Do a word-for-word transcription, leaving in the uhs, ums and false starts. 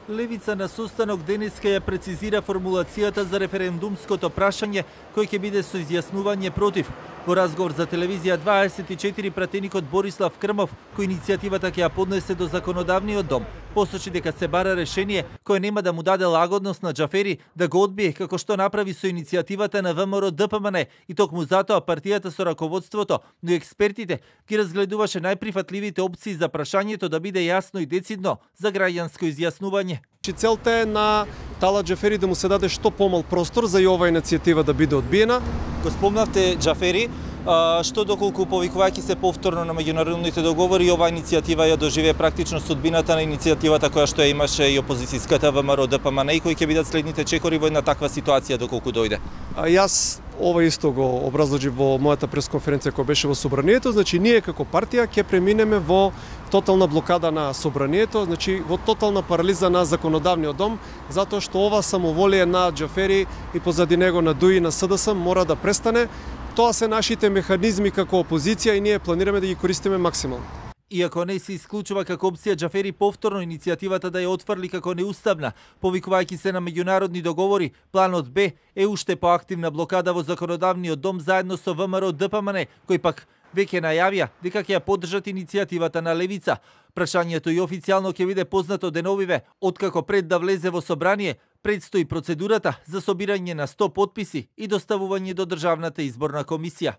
Левица на состанок денеска ја прецизира формулацијата за референдумското прашање кој ќе биде со изјаснување против. Во разговор за телевизија дваесет и четири пратеникот Борислав Крмов, кој иницијативата ќе ја поднесе до законодавниот дом, посочи дека се бара решение кое нема да му даде лагодност на Џафери да го одбие како што направи со иницијативата на ВМРО Д П М Н и токму затоа партијата со раководството, но и експертите ги разгледуваше најприфатливите опции за прашањето да биде јасно и децидно за граѓанско изјаснување. Целта е на Талат Џафери да му се даде што помал простор за и оваа иницијатива да биде одбиена. Го спомнавте Џафери, а, што доколку повикувајќи се повторно на меѓународните договори, оваа иницијатива ја доживее практично судбината на иницијативата која што ја имаше и опозицијската ВМРО Д П М Н и кои ќе бидат следните чекори во една таква ситуација доколку дојде? А јас ова исто го образложив во мојата пресконференција која беше во собранието, значи ние како партија ќе преминеме во тотална блокада на собранието, значи во тотална парализа на законодавниот дом, затоа што ова самоволие на Џафери и позади него на Д У И и на С Д С мора да престане. Тоа се нашите механизми како опозиција и ние планираме да ги користиме максимално. Иако не се исклучува како опција Џафери повторно иницијативата да ја отфрли како неуставна, повикувајќи се на меѓународни договори, планот Б е уште поактивна блокада во законодавниот дом заедно со В М R Д П М Н, кој пак веќе најавија дека ќе ја поддржат иницијативата на Левица. Прашањето и официјално ќе биде познато деновиве, откако пред да влезе во собрание, предстои процедурата за собирање на сто потписи и доставување до Државната изборна комисија.